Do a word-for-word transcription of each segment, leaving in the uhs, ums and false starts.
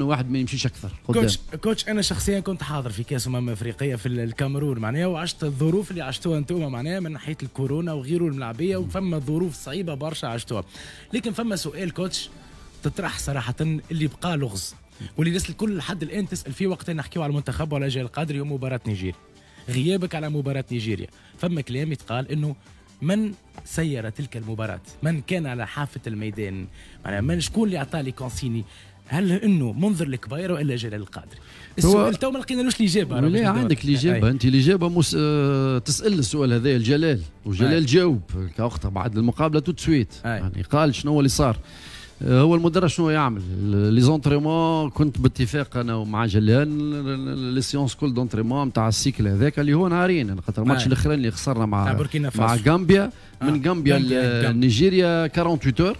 واحد ما يمشيش اكثر قدام. coach coach، انا شخصيا كنت حاضر في كاس امم افريقية في الكاميرون معناها، وعشت الظروف اللي عشتوها انتم معناها من ناحية الكورونا وغيره الملاعبيه، وفما ظروف صعيبة برشا عشتوها. لكن فما سؤال coach تطرح صراحة اللي بقى لغز واللي الناس الكل لحد الان تسال فيه وقت نحكيو على المنتخب وعلى جلال القادري يوم مباراة نيجيريا، غيابك على مباراة نيجيريا. فما كلام يتقال انه من سير تلك المباراة؟ من كان على حافة الميدان؟ معناها من شكون اللي اعطى les consignes؟ هل انه منذر الكبير والا جلال القادري؟ السؤال تو ما لقينالوش الاجابه. لا، عندك الاجابة انت، الاجابة مس... آه، تسال السؤال هذا الجلال، وجلال جاوب كوقتها بعد المقابلة tout de suite، يعني قال شنو اللي صار. آه، هو المدرب شنو يعمل؟ les entraînements كنت باتفاق انا ومع جلال، les séances كل d'entraînement نتاع ال cycle هذاك اللي هو نهارين، خاطر الماتش الاخراني اللي خسرنا مع مع غامبيا، من آه. غامبيا لنيجيريا ثمانية وأربعين heures،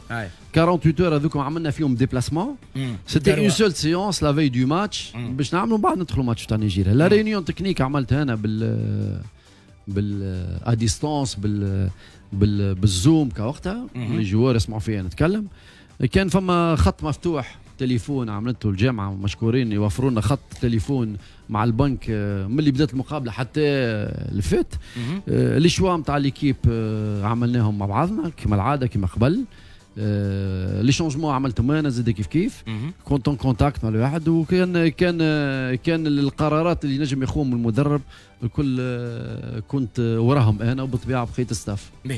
ثمانية وأربعين heures هذوك عملنا فيهم déplacement. c'était une seule séance la veille du match باش نعملوا، بعد ندخلوا ماتش تاع نيجيريا. la réunion technique عملتها انا بال بال à distance، بال بال بال Zoom كوقتها، les joueurs يسمعوا فيا نتكلم. كان فما خط مفتوح تليفون عملته الجامعه، مشكورين يوفروا لنا خط تليفون مع البنك آه، من اللي بدات المقابلة حتى اللي فات. آه، les choix نتاع l'équipe آه، عملناهم مع بعضنا كما العاده، كما قبل. les changements عملتهم انا زاد كيف كيف، كنت en contact مع الواحد، وكان كان كان القرارات اللي نجم يخوهم المدرب الكل كنت وراهم انا وبالطبيعه بقية staff.